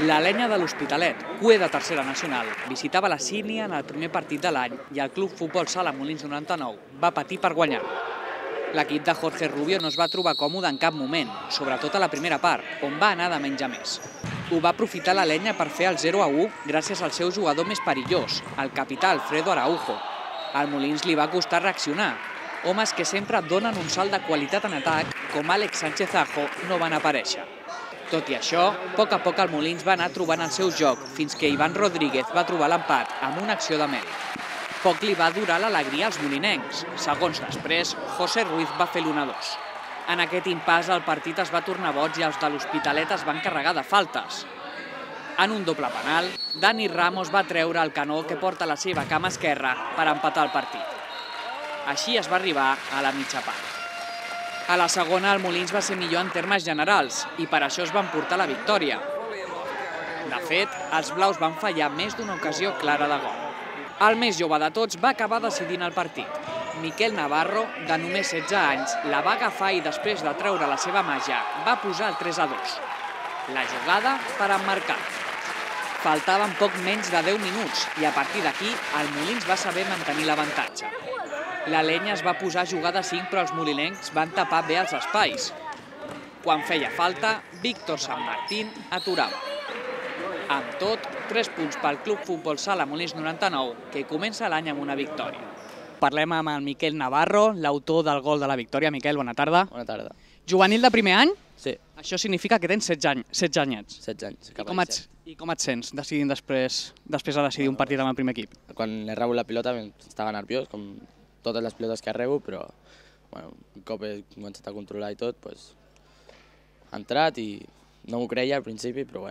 La Lenya de l'Hospitalet, CUE de tercera nacional, visitava la Sínia en el primer partit de l'any i el Club Futbol Sala Molins 99 va patir per guanyar. L'equip de Jorge Rubio no es va trobar còmode en cap moment, sobretot a la primera part, on va anar de menys a més. Ho va aprofitar la Lenya per fer el 0-1 gràcies al seu jugador més perillós, el capità Alfredo Araujo. Al Molins li va costar reaccionar. Homes que sempre donen un salt de qualitat en atac, com Àlex Sánchez Ajo, no van aparèixer. Tot i això, a poc el Molins va anar trobant el seu joc, fins que Ivan Rodríguez va trobar l'empat amb una acció de mèrit. Poc li va durar l'alegria als molinencs. Segons després, José Ruiz va fer l'1-2. En aquest impàs el partit es va tornar boig i els de l'Hospitalet es van carregar de faltes. En un doble penal, Dani Ramos va treure el canó que porta a la seva cama esquerra per empatar el partit. Així es va arribar a la mitja part. A la segona, el Molins va ser millor en termes generals i per això es van portar la victòria. De fet, els blaus van fallar més d'una ocasió clara de gol. El més jove de tots va acabar decidint el partit. Miquel Navarro, de només 16 anys, la va agafar i després de treure la seva màgia va posar el 3-2. La jugada per emmarcar. Faltaven poc menys de 10 minuts i a partir d'aquí el Molins va saber mantenir l'avantatge. La Lenya es va posar a jugar de 5 però els molinencs van tapar bé els espais. Quan feia falta, Víctor San Martín aturava. Amb tot, 3 punts pel Club Futbol Sala Molins 99, que comença l'any amb una victòria. Parlem amb el Miquel Navarro, l'autor del gol de la victòria. Miquel, bona tarda. Bona tarda. Juvenil de primer any? Sí. Això significa que tens 16 anyets. 16 anys. I com et sents decidint després de decidir un partit amb el primer equip? Quan he rebut la pilota estava nerviós, com totes les pilotes que rebo, però un cop he començat a controlar i tot, ha entrat i no m'ho creia al principi, però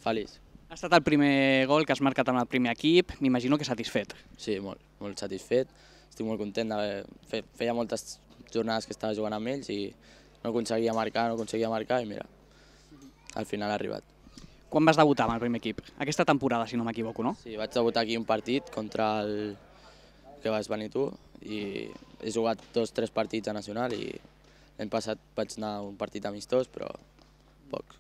feliç. Ha estat el primer gol que has marcat amb el primer equip, m'imagino que satisfet. Sí, molt satisfet. Estic molt content de feia moltes jornades que estava jugant amb ells i no aconseguia marcar i mira, al final ha arribat. Quan vas debutar amb el primer equip? Aquesta temporada, si no m'equivoco, no? Sí, vaig debutar aquí un partit contra el que vas venir tu i he jugat 2 o 3 partits a Nacional i l'any passat vaig anar a un partit amistós, però pocs.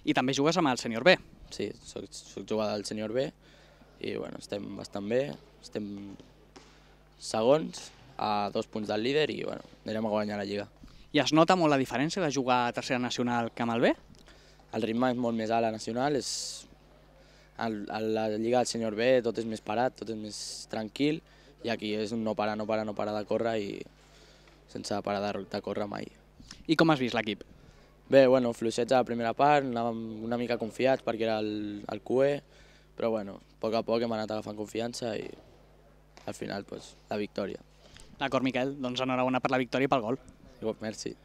I també jugues amb el sènior B. Sí, soc jugador del sènior B i estem bastant bé, estem segons a 2 punts del líder i anirem a guanyar la Lliga. I es nota molt la diferència de jugar a tercera nacional que amb el B? El ritme és molt més alt a Nacional, a la Lliga del sènior B tot és més parat, tot és més tranquil i aquí és un no parar de córrer i sense parar de córrer mai. I com has vist l'equip? Bé, fluixets a la primera part, anàvem una mica confiats perquè era el CUE, però a poc hem anat agafant confiança i al final la victòria. D'acord, Miquel, doncs enhorabona per la victòria i pel gol. Merci.